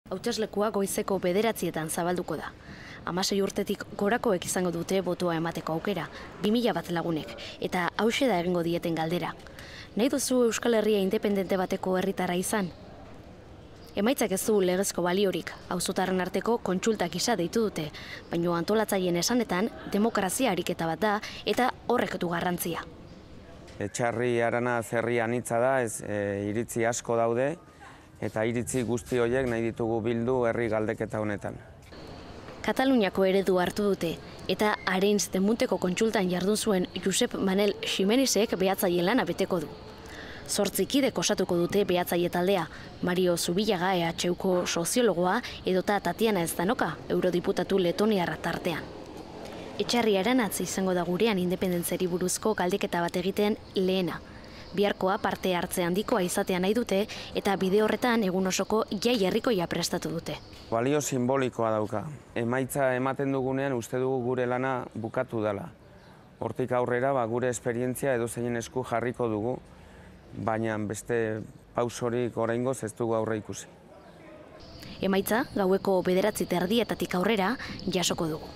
Hauteslekua goizeko 9:00 zabalduko da. 16 urtetik gorakoek izango dute botoa emateko aukera, 2000 bat lagunek, eta hauxe da egingo dieten galdera. Nahi duzu Euskal Herria independente bateko herritarra izan? Emaitzak ez du legezko baliorik, auzotarren arteko kontsultak gisa deitu dute, baina antolatzaileen esanetan demokrazia ariketa bat da eta horrek du garrantzia. Etxarri Arana herri anitza da, iritzi asko daude, eta iritzi guzti horiek nahi ditugu bildu herri galdeketa honetan. Kataluniako eredu hartu dute, eta Arenys de Munteko kontsultan jardun zuen Josep Manel Ximenezek behatzaile lana beteko du. 8 kidek osatuko dute behatzaile taldea, Mario Zubillaga EHUko soziologoa edota Tatiana Zdanoka, eurodiputatu letoniarra tartean. Etxarri Aranatz izango da gurean independentzeri buruzko galdeketa bat egiten lehena. Biharkoa parte hartze handikoa izatea nahi dute eta bide horretan egun osoko jai herrikoia prestatu dute. Balio simbolikoa dauka. Emaitza ematen dugunean uste dugu gure lana bukatu dela. Hortik aurrera gure esperientzia edozein esku jarriko dugu, baina beste pausorik oraingoz ez dugu aurre ikusi. Emaitza gaueko 9:30 aurrera jasoko dugu.